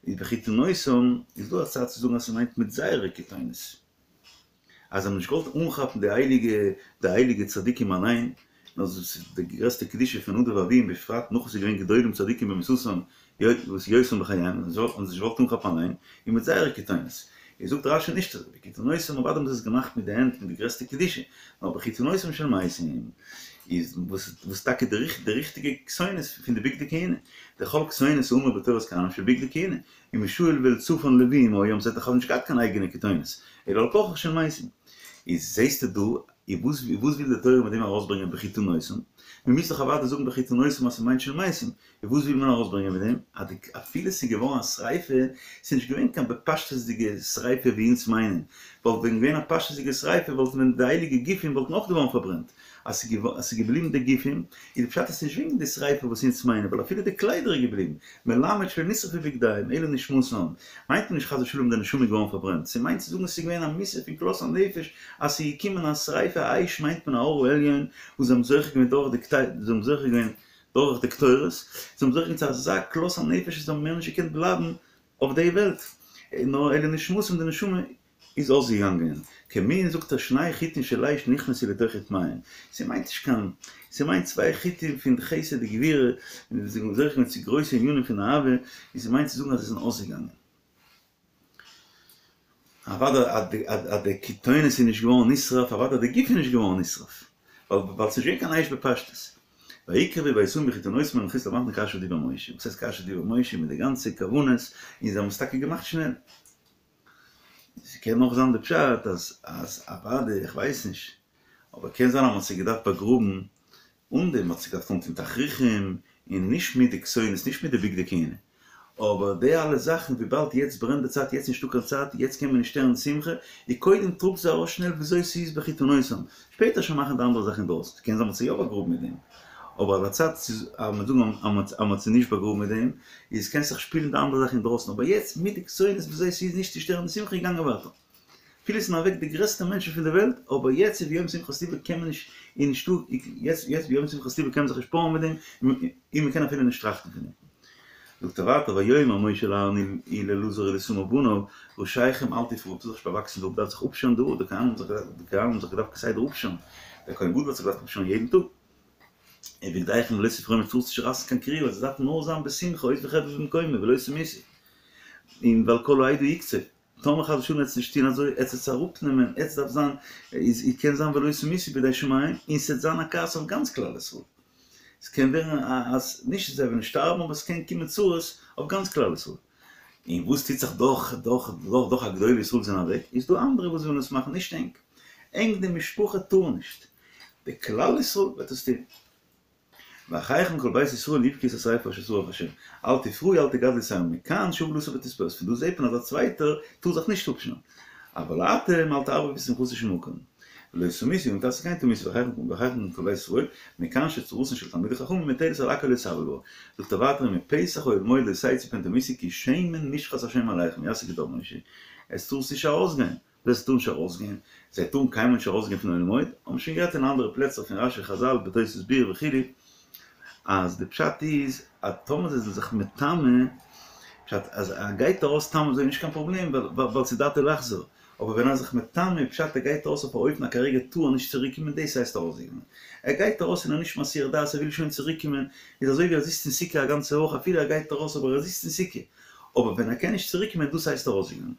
איז בכתנותם איז דא א צד צו זאגן אז ס'מיינט מיט זייערע כתונת, אז זיי האבן נישט געוואלט אנכאפן די הייליגע די הייליגע צדיקים אליין, נאר דאס איז די גרעסטע קדושה פון נדב ואביהוא בפרט נאך וואס איז געווען גדולים צדיקים במיתתם וואס יותר מחייהם, זיי האבן זיך נישט געוואלט אנכאפן אליין, און מיט זייערע כתונת. איז זאגט רש"י נישט אזוי, בכתנותם אוודאי האבן זיי עס געמאכט מיט די הענט מיט די גרעסטע קדושה, נאר בכתנותם של מתים איז וואס טאקע די ריכטיגע כתונת פון די בגדי כהונה, דכל כתונת האמור בתורת כהנים של בגדי כהונה, און מישאל ואלצפן לוויים היו האבן זיי דאך נישט געהאט קיין אייגענע כתונת, אלא על כרחך של מתים. איז זעסטו דא, איז וואס וויל די תורה מיט דעם ארויסברענגען בכתנותם? מ'מוז דאך אוודאי זאגן בכתנותם אז ס'מיינט של מתים, און וואס וויל מען ארויסברענגען מיט דעם? אז די אפילו ס'איז געווארן א שריפה, ס'איז נישט געווען קיין בפשטות'דיגע שריפה ווי אונז מיינען, וואלט ווען געווען א פשטות'דיגע שריפה וואלט ווען די הייליגע גופים וואלטן אויך געווארן פארברענט, אז ס'איז געבליבן די גופים, איז די פשט אז ס'איז נישט וועגן די שריפה וואס אונז מיינען, ווייל אפילו די קליידער איז געבליבן, מלמד שלא נשרפו בגדיהם, אלא נשמתם, מיינט מען נישט חס ושלום די נשמה איז געווארן פארברענט, ס'מיינט צו זאגן ס'איז געווען א מיתה פון כלות הנפש אז ס'איז געקומען א שריפה אש מיינט מען א אור העליון וואס זיי האבן זוכה געווען דורך די זיי האבן זוכה געווען דורך די קטורת, זיי האבן זוכה געווען צו אזא כלות הנפש אז זיי האבן מער נישט געקענט בלייבן אויף די וועלט, נאר אלא נשמתם די נשמה איז אויסגעגאנגען, כמין זאגט ער שני חוטין של אש נכנסו לתוך רתמיהן, ס'מיינט נישט קיין, ס'מיינט צוויי חוטין פון חסד וגבורה, און זיי האבן זוכה געווען צו גרויסע ענינים פון אהבה, און ס'מיינט צו זאגן אז זיי זענען אויסגעגאנגען. אוודאי אז די כתונת איז נישט געווארן נשרף, אוודאי די גוף איז נישט געווארן נשרף, ווייל ס'איז נישט געווען קיין אש בפשטות. ויקרבו וישאום בכתנותם אל מחוץ למחנה כאשר דיבר משה, וואס הייסט כאשר דיבר משה מיט די גאנצע כוונות, און זיי האבן עס טאקע געמאכט שנעל. ס'קען נאך זיין די פשט אז אז אוודאי, איך ווייס נישט, אבער קען זיין אז מ'האט זיי געדארפט באגראבן אן דעם, מ'האט זיי געדארפט אנטון תכריכים, און נישט מיט די כתונת, נישט מיט די בגדי כהונה. אבער די אלע זאכן וויבאלד יעצט ברענט די צייט יעצט נישטא קיין צייט יעצט קען מען נישט שטערן די שמחה, איז קודם טראגט זיי ארויס שנעל וויאזוי ס'איז בחיתונותם, שפעטער שוין מאכן די אנדערע זאכן אינדרויסן, ס'קען זיין מ'האט זיי יא באגראבן מיט דעם, אבער על הצד אז מ'זאגן אז מ'האט זיי נישט באגראבן מיט דעם, איז קענסט זיך שפילן די אנדערע זאכן אינדרויסן, אבער יעצט מיט די כתונת וויאזוי ס'איז נישט צו שטערן די שמחה געגאנגען ווייטער. אפילו ס'זענען אוועק די גרעסטע מענטשן פון די וועלט, אבער יעצט איז ביום שמחת לבו קען מען נישט, איז נישטא, יעצט יעצט ביום שמחת לבו קען מען זיך נישט פארען מיט דעם, און מען קען אפילו נישט טראכטן פון דעם. זאגט ער ווייטער ויאמר משה אל אהרן ולאלעזר ולאיתמר בניו, ראשיכם אל תפרעו, טוט זיך נישט באוואקסן די האר, דארף זיך אפשערן די האר, די כהנים האבן זיך געדארפט כסדר אפשערן, דער כהן גדול האט זיך געדארפט אפשערן יעדן טאג. ובגדיכם לא תפרמו טארסט נישט רייסן קיין קריעה, עס דארף נאר זיין בשמחה עוז וחדוה במקומו ולא תמותו, און ועל כל העדה יקצוף. טאמער חס ושלום עטס נישט טוהן אזוי, עטס עטס אראפנעמען, עטס דארף זיין, איז קען זיין ולא תמותו בידי שמים, און ס'עט זיין א כעס אויף גאנץ כלל ישראל. ס'קען ווערן א אז נישט זיי וועלן שטארבן אבער ס'קען קומען צרות אויף גאנץ כלל ישראל. און וואס טוט זיך דורך דורך דורך דורך א גדולי ישראל זענען אוועק, איז דא אנדערע וואס ווילן עס מאכן, נישט ענק. ענק די משפחה טאר נישט. די כלל ישראל וועט עס טוהן. ואחיכם כל בית ישראל יבכו את השריפה אשר שרף השם, אל תפרעו אל תגדלו שער מכאן שהבל אסור בתספורת, פון דא זעט מען אז א צווייטער טאר זיך נישט אפשערן, אבל אתם אל תערבו בשמחתו של מקום, ולא תמותו ואם תעשו כן תמותו ואחיכם כל בית ישראל, מכאן שצרתן של תלמידי חכמים מוטלת על הכל להתאבל בה, זאגט ער ווייטער ומפתח אוהל מועד לא תצאו פן תמותו כי שמן משחת השם עליכם, יעשה כדבר משה, עס טאר נישט ארויסגיין. דאס טאר נישט ארויסגיין, זיי טארן קיינמאל נישט ארויסגיין פון אוהל מועד, האבן שוין גערעדט אין אנדערע פלעצער פון רשי חזל בתוס' ביאור וכו', אז די פשט איז אז טאמער זיי זענען זיך מטמא, פשט אז ער גייט ארויס סתם אזוי נישט קיין פראבלעם ווייל ס'איז דעתו לחזור, אבער ווען ער איז זיך מטמא פשט ער גייט ארויס אויף א אופן אז כרגע טאר ער נישט צוריק קומען דאס הייסט ארויסגיין, ער גייט ארויס און ער איז נישט מסיח דעת ער וויל שוין צוריק קומען, איז אזוי ווי ער זיצט אין סוכה א גאנצע וואך אפילו ער גייט ארויס אבער ער זיצט אין סוכה, אבער ווען ער קען נישט צוריק קומען דאס הייסט ארויסגיין.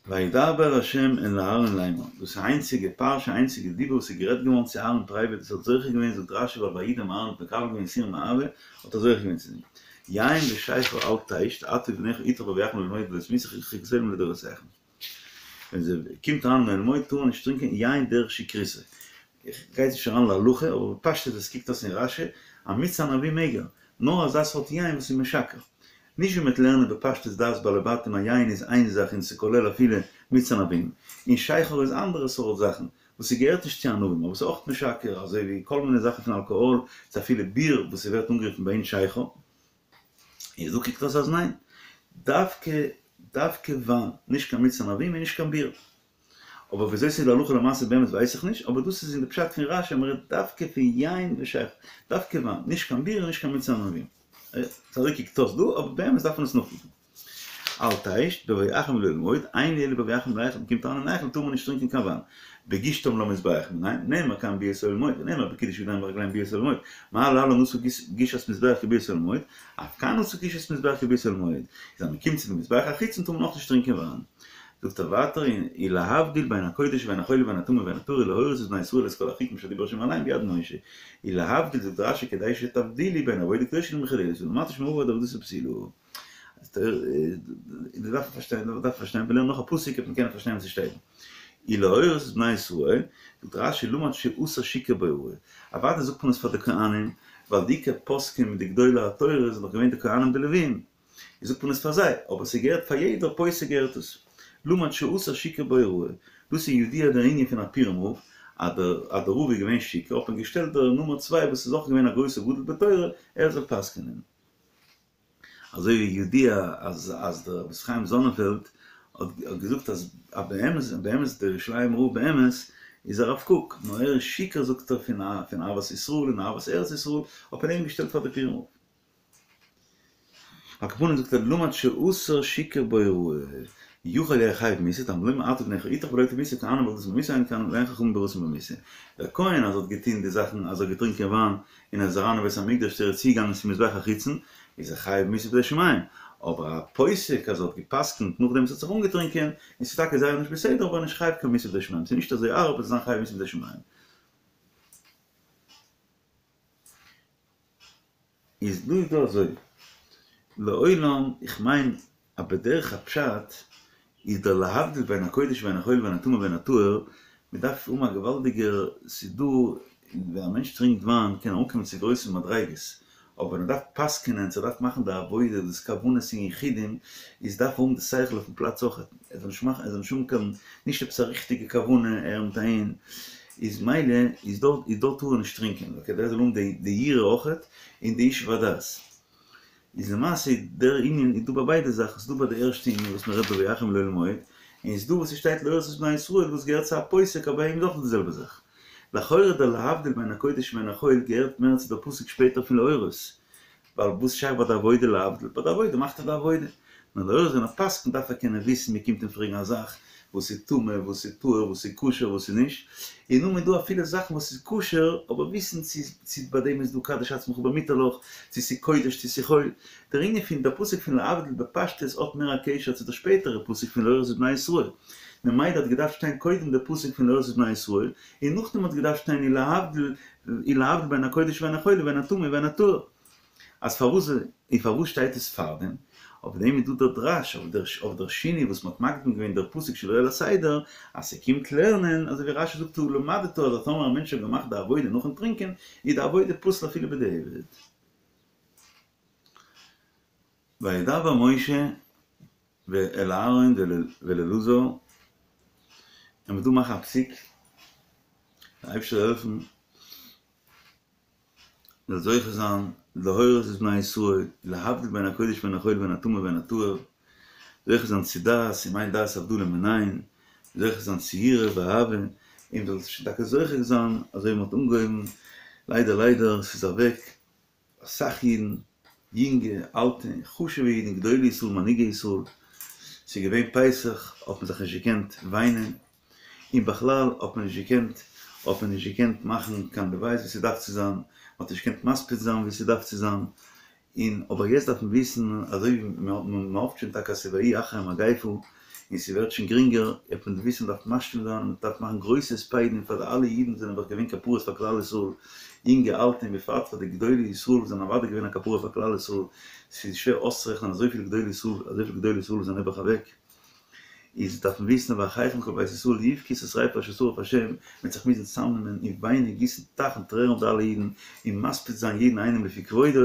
וידבר ה' אל אהרן לאמר, דאס איז איינציגע פרשה איינציגע דיבור וואס איז גערעדט געווארן צו אהרן פרייוועט וואס האט זוכה געווען זאגט רשי ווייל וידעם אהרן האט מקבל געווען יסורים מאהבה האט ער זוכה געווען צו דעם יין ושכר אל תשת אתה ובניך אתך בבואכם אל מועד ולא תמותו חוקת עולם לדורותיכם ווען זיי קומט אריין אין אוהל מועד טאר מען נישט טרינקען יין דרך שכרותו איך גיי נישט אריין להלכה אבער בפשטות עס קוקט אויס אין רשי אז מיץ ענבים מעג ער נאר אזא סארט יין וואס איז משכר נישט ווי מ'וועט לערנען בפשטות דעת בעלי בתים אז יין איז איין זאך און ס'כולל אפילו מיץ ענבים, און שכר איז אנדערע סארט זאכן וואס ס'געהערט נישט צו ענבים אבער ס'איז אויך משכר אזוי ווי כל מיני זאכן פון אלקאהאל צו אפילו ביר וואס ס'ווערט אנגערופן ביי אונז שכר. איז דא קוקט אויס אז ניין, דווקא דווקא וויין, נישט קיין מיץ ענבים און נישט קיין ביר. אבער וויאזוי ס'איז להלכה למעשה באמת ווייס איך נישט, אבער דאס איז אין די פשט פון רשי אז מ'רעדט דווקא פון יין ושכר, דווקא וויין, נישט קיין ביר און נישט קיין מיץ ענבים. אזוי קוקט אויס דא, אבער באמת דארף מען עס נאכקוקן. אל תשת, בבואכם אל אוהל מועד, אין לי אלא בבואכם אל ההיכל, מ'קומט אריין אין היכל טאר מען נישט טרינקען קיין וויין. בגישתם למזבח, מנין? נאמר כאן ביאת אוהל מועד, ונאמר בקידוש ידיים ורגליים ביאת אוהל מועד. מה להלן עשו גישת מזבח כביאת אוהל מועד, אף כאן עשו גישת מזבח כביאת אוהל מועד. איז אז מ'קומט צו די מזבח החיצון טאר מען אויך נישט טרינקען וויין. זאגט ער ווייטער ולהבדיל בין הקודש ובין החול ובין הטמא ובין הטהור להורות את בני ישראל את כל החוקים אשר דיבר ה' אליהם ביד משה ולהבדיל זאגט רשי כדי שתבדילו בין עבודה קדושה למחוללת ולמדת שמעבר עד עבודתו פסולה דאס דארף מען פארשטיין דאס דארף מען פארשטיין מיר לערנען נאך א פסוק וועט מען קענען פארשטיין וואס עס שטייט ולהורות את בני ישראל זאגט רשי למד שאסור שיכור בהוראה אוודאי זאגט מען עס פאר די כהנים ווייל די עיקר פוסקים מיט די גדולי התורה זענען דאך געווען די כהנים די לווים זאגט מען עס פאר זיי, אבער ס'געהערט פאר יעדער פוסק געהערט עס. למד שאסור שיכור בהוראה, דאס איז ידוע דער ענין פון א פורים רב, אז דער אז דער רב איז געווען שיכור האט מען געשטעלט דער נומער צוויי וואס איז אויך געווען א גרויסער גדול בתורה ער זאל פסק'נען. אזוי ווי ידוע אז אז דער רבי חיים זאנענפעלד האט געזאגט אז באמת באמת דער ירושלימ'ער רב באמת איז הרב קוק, נאר ער איז שיכור זאגט ער פון פון אהבת ישראל און אהבת ארץ ישראל האט מען אים געשטעלט פאר די פורים רב. על כל פנים זאגט ער למד שאסור שיכור בהוראה, יכול יהא חייב מיתה, תלמוד לומר אתה ובניך אתך ולא תמותו כהנים עבודתם במיתה אין כהנים ואין חכמים בהוראתם במיתה. דער כהן אז האט געטוהן די זאכן אז ער האט געטרינקען וויין און ער איז אריין אין בית המקדש צו ער איז צוגעגאנגען צום מזבח החיצון איז ער חייב מיתה בידי שמים, אבער א פוסק אז ער האט געפסקנט נאכדעם וואס ער האט זיך אנגעטרינקען און ס'איז טאקע זייער נישט בסדר אבער ער איז נישט חייב קיין מיתה בידי שמים, ס'איז נישט אזוי הארב אז זיין חייב מיתה בידי שמים. איז דא איז דא אזוי, לעולם איך מיין אז בדרך הפשט איז דער להבדיל בין הקודש ובין החול ובין הטמא ובין הטהור, מען דארף האבן א געוואלדיגער ס'איז דא ווען א מענטש טרינקט וויין קען ער אנקומען צו גרויסע מדריגות, אבער ווען ער דארף פסק'נען, צו ער דארף מאכן די עבודה, דאס כוונות און יחודים, איז דארף ער האבן די שכל אויפן פלאץ אויך, ער זאל נישט מאכן, ער זאל נישט האבן קיין, נישט עפעס א ריכטיגע כוונה ער מיט אהין, איז מילא איז דארט איז דארט טאר ער נישט טרינקען, כדי ער זאל האבן די די יראה אויך, און די ישוב הדעת. איז למעשה דער ענין איז דא ביי ביידע זאכן, ס'איז דא ביי די ערשטע ענין וואס מ'רעדט דא ויכן לאהל מועד, און ס'איז דא וואס ס'שטייט להורות את בני ישראל וואס געהערט צו א פוסק אבער ביי אים איז אויך די זעלבע זאך. לכאורה דער להבדיל בין הקודש ובין החול געהערט מער צו דער פסוק שפעטער פון להורות, ווייל וואס שייך ביי די עבודה להבדיל? ביי די עבודה מאכט ער די עבודה. נאר להורות ווען ער פסק'נט דארף ער קענען וויסן, מען קומט אים פרעגן א זאך, וואס איז טמא, וואס איז טהור, וואס איז כשר, וואס איז נישט, און נאכדעם איז דא אפילו זאכן וואס איז כשר, אבער וויסן צו צו ביי דעם איז דא קדש עצמך במותר לך, צו ס'איז קודש צו ס'איז חול. דער ענין פון דער פסוק פון להבדיל בפשטות האט מער א קשר צו דער שפעטערע פסוק פון להורות את בני ישראל. ממילא האט געדארפט שטיין קודם דער פסוק פון להורות את בני ישראל, און נאכדעם האט געדארפט שטיין ולהבדיל ולהבדיל בין הקודש ובין החול ובין הטמא ובין הטהור. אז פארוואס און פארוואס שטייט עס פארדעם? אויף דעם איז דא דער דרש אויף דער אויף דער שינוי וואס מ'האט מקדים געווען דער פסוק שלא על הסדר, אז ס'קומט לערנען, אזוי ווי רש"י זאגט הא למדת אז טאמער א מענטש האט געמאכט די עבודה נאכן טרינקען, איז די עבודה פסול אפילו בדיעבד. וידבר משה אל אהרן ואל אלעזר, און מ'דא מאכן א פסיק, דער אייבערשטער זאל העלפן מ'זאל זוכה זיין להורות את בני ישראל, להבדיל בין הקודש ובין החול ובין הטמא ובין הטהור, זוכה זיין צו דעת, אם אין דעת הבדלה מנין, זוכה זיין צו יראה ואהבה, און מ'זאל שוין טאקע זוכה זיין אזוי ווי מ'האט אנגעהויבן, ליידער ליידער ס'איז אוועק אסאך אידן, יונגע, אלטע, חשוב'ע אידן, גדולי ישראל, מנהיגי ישראל, ס'איז געווען פסח, האט מען זיך נישט געקענט וויינען, און בכלל האט מען נישט געקענט, האט מען נישט געקענט מאכן קיין לוויות ווי ס'דארף צו זיין, מ'האט נישט געקענט מספיד זיין ווי ס'דארף צו זיין, און אבער יעצט דארף מען וויסן אזוי ווי מ'האפט שוין טאקע אז ס'איז ויהי אחרי המגיפה און ס'ווערט שוין גרינגער, דארף מען וויסן מ'דארף משלים זיין און מ'דארף מאכן גרויסע הספדים פאר די אלע אידן וואס זענען נעבעך געווען כפרות פאר כלל ישראל, יונגע אלטע און בפרט פאר די גדולי ישראל וואס זענען אוודאי געווען א כפרה פאר כלל ישראל, ס'איז שווער אויסצורעכענען אזויפיל גדולי ישראל, אזויפיל גדולי ישראל וואס זענען נעבעך אוועק. איז דארף מען וויסן ואחיכם כל בית ישראל יבכו את השריפה אשר שרף השם, מ'וועט זיך מוזן צוזאמנעמען און וויינען גיסן טייכן טרערן אויף די אלע אידן, און מספיד זיין יעדן איינעם לפי כבודו,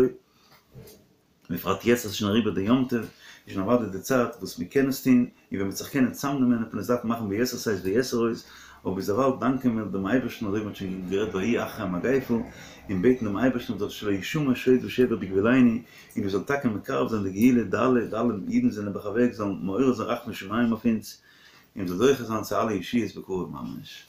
בפרט יעצט אז ס'איז שוין אריבער די יום טוב, איז שוין אוודאי די צייט וואס מ'קען עס טון, און ווען מ'וועט זיך קענען צוזאמנעמען וועט מען עס דארפן מאכן ביתר שאת ויתר עוז, אבער ביזדערווייל דאנקען מיר דעם אייבערשטן אזוי ווי מ'האט שוין גערעדט ויהי אחרי המגיפה, און בעטן דעם אייבערשטן זאל שלא ישמע שוד ושבר בגבולנו, און מיר זאלן טאקע מקרב זיין די גאולה, די אלע די אלע אידן זענען נעבעך אוועק זאלן מעורר זיין רחמי שמים אויף אונז, און מ'זאל זוכה זיין צו אלע ישועות בקרוב ממש.